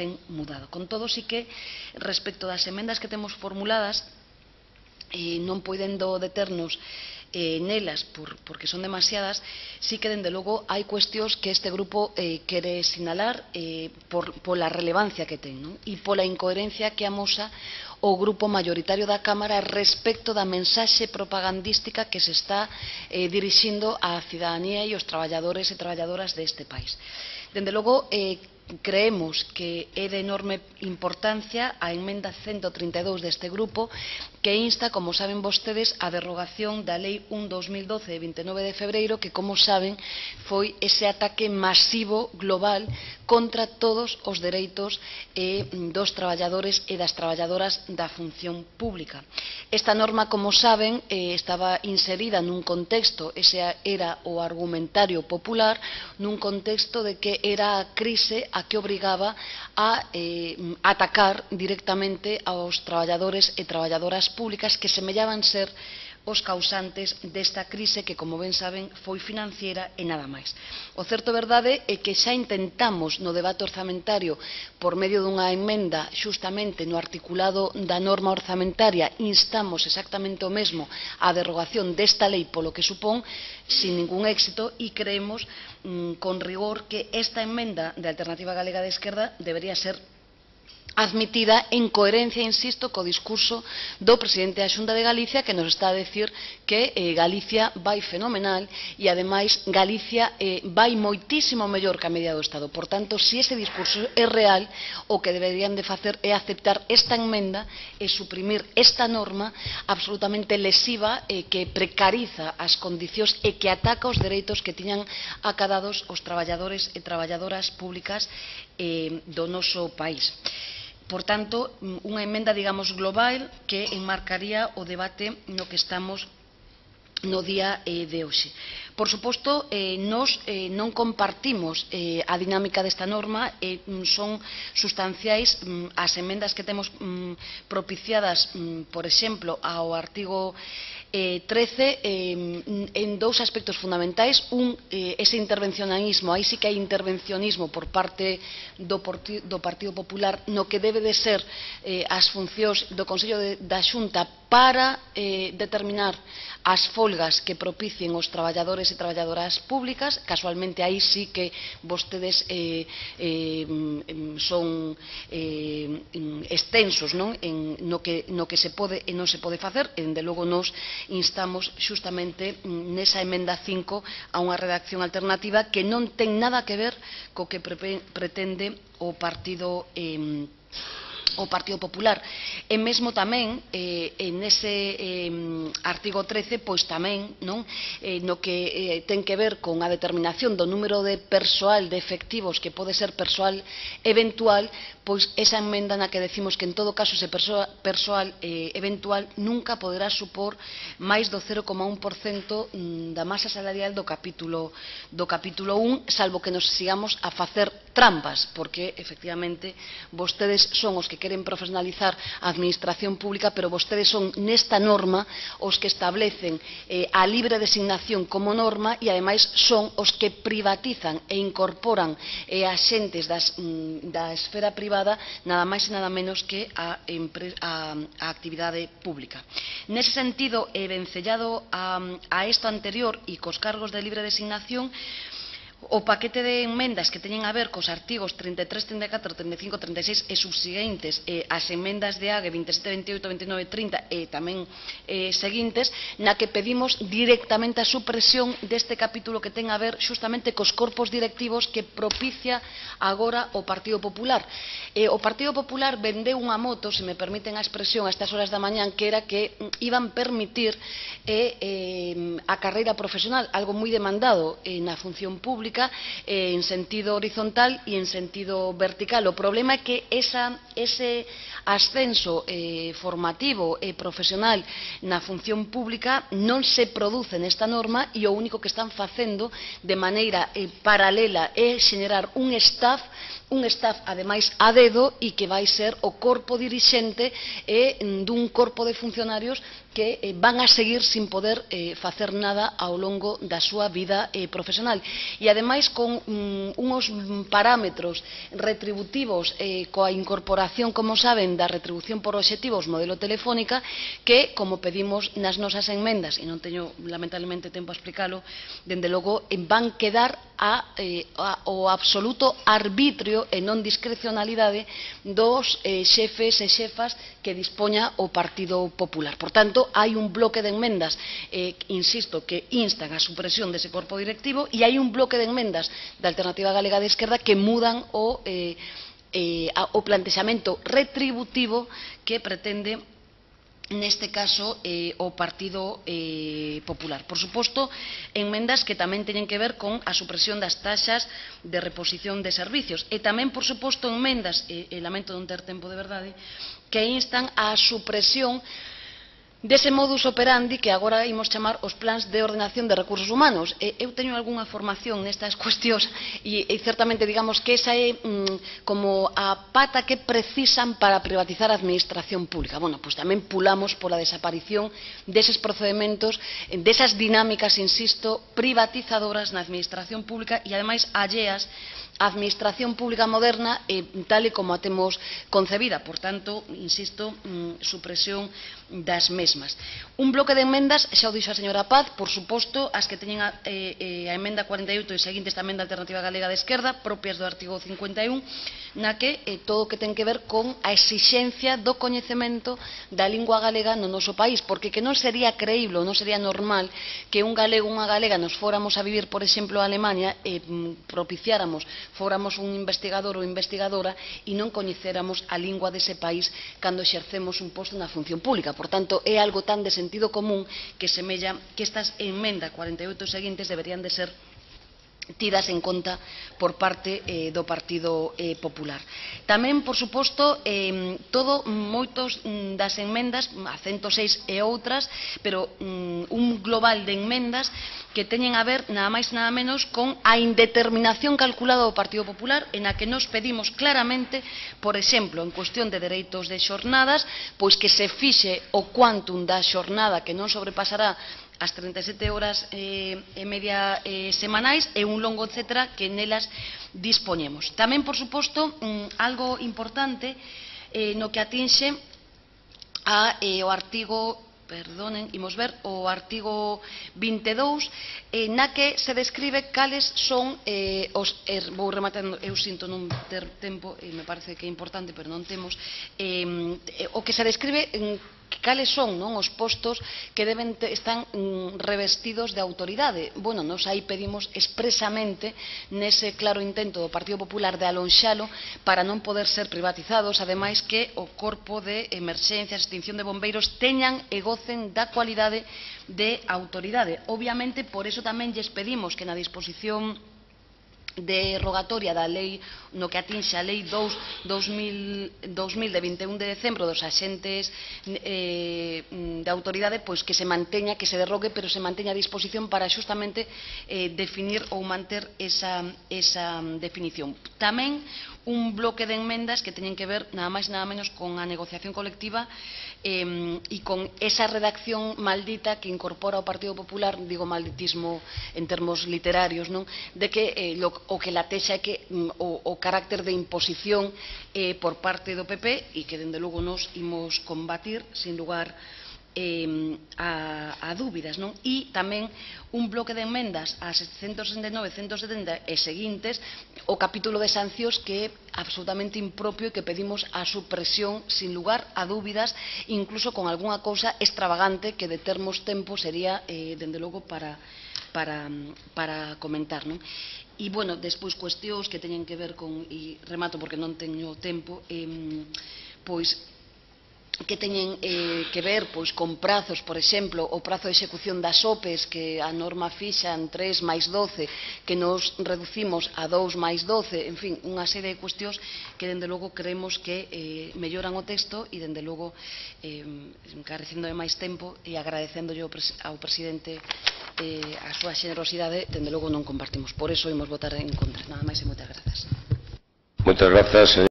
ten mudado. Con todo, sí que, respecto das emendas que temos formuladas, non podendo deternos nelas porque son demasiadas, sí que, dende logo, hai cuestións que este grupo quere sinalar pola relevancia que ten, non? E pola incoherencia que amosa o grupo maioritario da Cámara respecto da mensaxe propagandística que se está dirixindo á cidadanía e aos traballadores e traballadoras deste país. Dende logo, creemos que é de enorme importancia a emenda 132 deste grupo, que insta, como saben vostedes, a derrogación da Lei 1/2012 de 29 de febreiro, que, como saben, foi ese ataque masivo global contra todos os dereitos dos traballadores e das traballadoras da función pública. Esta norma, como saben, estaba inserida nun contexto, ese era o argumentario popular, nun contexto de que era a crise a que obrigaba a atacar directamente aos traballadores e traballadoras públicas que semellaban ser os causantes desta crise que, como ben saben, foi financiera e nada máis. O certo verdade é que xa intentamos no debate orzamentario, por medio dunha emenda, xustamente no articulado da norma orzamentaria, instamos exactamente o mesmo a derrogación desta lei polo que supón, sin ningún éxito, e creemos con rigor que esta emenda de Alternativa Galega de Esquerda debería ser admitida en coherencia, insisto, co discurso do presidente da Xunta de Galicia, que nos está a decir que Galicia vai fenomenal e, ademais, Galicia vai moitísimo mellor que a media do Estado. Por tanto, se ese discurso é real, o que deberían de facer é aceptar esta emenda e suprimir esta norma absolutamente lesiva que precariza as condicións e que ataca os dereitos que tiñan acadados os traballadores e traballadoras públicas do noso país. Por tanto, unha emenda, digamos, global que enmarcaría o debate no que estamos no día de hoxe. Por suposto, nós non compartimos a dinámica desta norma, son sustanciais as emendas que temos propiciadas, por exemplo, ao artigo 13, en dous aspectos fundamentais. Ese intervencionismo, aí sí que hai intervencionismo por parte do Partido Popular no que debe de ser as funcións do Consello da Xunta para determinar as folgas que propicien os traballadores e traballadoras públicas. Casualmente, aí sí que vostedes son extensos no que se pode e non se pode facer, e, dende logo, nos instamos xustamente nesa emenda 5 a unha redacción alternativa que non ten nada que ver co que pretende o Partido Popular. E mesmo tamén nese artigo 13, pois tamén no que ten que ver con a determinación do número de persoal, de efectivos, que pode ser persoal eventual, pois esa emenda na que decimos que en todo caso ese persoal eventual nunca poderá supor máis do 0,1% da masa salarial do capítulo 1, salvo que nos sigamos a facer trampas, porque efectivamente vostedes son os que queren profesionalizar a administración pública, pero vostedes son nesta norma os que establecen a libre designación como norma e, ademais, son os que privatizan e incorporan a xentes da esfera privada nada máis e nada menos que a actividade pública. Nese sentido, vencellado a isto anterior e cos cargos de libre designación, o paquete de emendas que teñen a ver cos artigos 33, 34, 35, 36 e subsiguientes, as emendas de AGE 27, 28, 29 e 30 e tamén seguintes, na que pedimos directamente a supresión deste capítulo que ten a ver xustamente cos corpos directivos que propicia agora o Partido Popular. O Partido Popular vendeu unha moto, se me permiten a expresión, a estas horas da mañán, que era que iban permitir a carreira profesional, algo moi demandado na función pública, en sentido horizontal e en sentido vertical. O problema é que ese ascenso formativo e profesional na función pública non se produce nesta norma, e o único que están facendo de maneira paralela é xenerar un staff un staff, ademais, a dedo e que vai ser o corpo dirixente dun corpo de funcionarios que van a seguir sin poder facer nada ao longo da súa vida profesional. E, ademais, con uns parámetros retributivos coa incorporación, como saben, da retribución por obxectivos modelo telefónica, que, como pedimos nas nosas enmendas, e non teño lamentablemente tempo a explicalo, dende logo van quedar ao absoluto arbitrio e non discrecionalidade dos xefes e xefas que dispoña o Partido Popular. Por tanto, hai un bloque de enmendas, insisto, que instan a supresión dese corpo directivo, e hai un bloque de enmendas da Alternativa Galega de Esquerda que mudan o plantexamento retributivo que pretende neste caso o Partido Popular. Por suposto, enmendas que tamén teñen que ver con a supresión das taxas de reposición de servicios e tamén, por suposto, enmendas, e lamento non ter tempo de verdade, que instan a supresión dese modus operandi que agora imos chamar os plans de ordenación de recursos humanos. Eu teño algunha formación nestas cuestións e certamente digamos que esa é como a pata que precisan para privatizar a administración pública. Bueno, pois tamén pulamos pola desaparición deses procedementos, desas dinámicas, insisto, privatizadoras na administración pública e ademais alleas a administración pública moderna tal e como a temos concebida. Por tanto, insisto, supresión das mesmas. Un bloque de enmendas, xa o dixo a señora Paz, por suposto, as que teñen a emenda 48 e seguintes tamén da Alternativa Galega de Esquerda, propias do artigo 51, na que todo o que ten que ver con a exixencia do coñecemento da lingua galega no noso país, porque que non sería creíble, non sería normal que un galego ou unha galega nos fóramos a vivir, por exemplo, a Alemania e propiciáramos, fóramos un investigador ou investigadora e non coñecéramos a lingua dese país cando exercemos un posto na función pública. Por tanto, é algo tan de sentido común que semella que estas enmendas 48 seguintes deberían de ser tidas en conta por parte do Partido Popular. Tamén, por suposto, moitos das enmendas, a 106 e outras, pero un global de enmendas que teñen a ver nada máis nada menos con a indeterminación calculada do Partido Popular, en a que nos pedimos claramente, por exemplo, en cuestión de dereitos de xornadas, pois que se fixe o quantum da xornada que non sobrepasará as 37 horas e media semanais e un longo etcétera que nelas dispoñemos. Tamén, por suposto, algo importante no que atinxe ao artigo, perdonen, imos ver, o artigo 22, na que se describe cales son vou rematando, eu sinto non ter tempo, me parece que é importante, pero non temos, o que se describe cales son os postos que están revestidos de autoridade. Bueno, nos aí pedimos expresamente nese claro intento do Partido Popular de alonxalo para non poder ser privatizados, ademais que o corpo de emerxencias, extinción de bombeiros teñan e gocen da cualidade de autoridade. Obviamente, por eso tamén lles pedimos que na disposición derogatoria da lei no que atinxe a lei 2000 de 21 de decembro dos axentes de autoridade, pois que se manteña, que se derrogue, pero se manteña a disposición para xustamente definir ou manter esa definición. Tamén un bloque de enmendas que teñen que ver nada máis nada menos con a negociación colectiva e con esa redacción maldita que incorpora o Partido Popular, digo malditismo en termos literarios, non? De que o que latexa é que o carácter de imposición por parte do PP e que dende logo nos imos combatir sin lugar a dúbidas, non? E tamén un bloque de enmendas a 169, 170 e seguintes, o capítulo de sancións que é absolutamente impropio e que pedimos a supresión sin lugar a dúbidas, incluso con algunha cousa extravagante que de termos tempo sería, dende logo, para comentar, non? E, bueno, despois cuestións que teñen que ver con, e remato porque non teño tempo, pois que teñen que ver con prazos, por exemplo, o prazo de execución das OPEs, que a norma fixa en 3 máis 12, que nos reducimos a 2 máis 12, en fin, unha serie de cuestións que, dende logo, creemos que melloran o texto e, dende logo, encarecendo de máis tempo e agradecéndolle ao presidente a súa xenerosidade, dende logo non compartimos. Por eso imos votar en contra. Nada máis e moitas grazas. Muchas gracias, señor.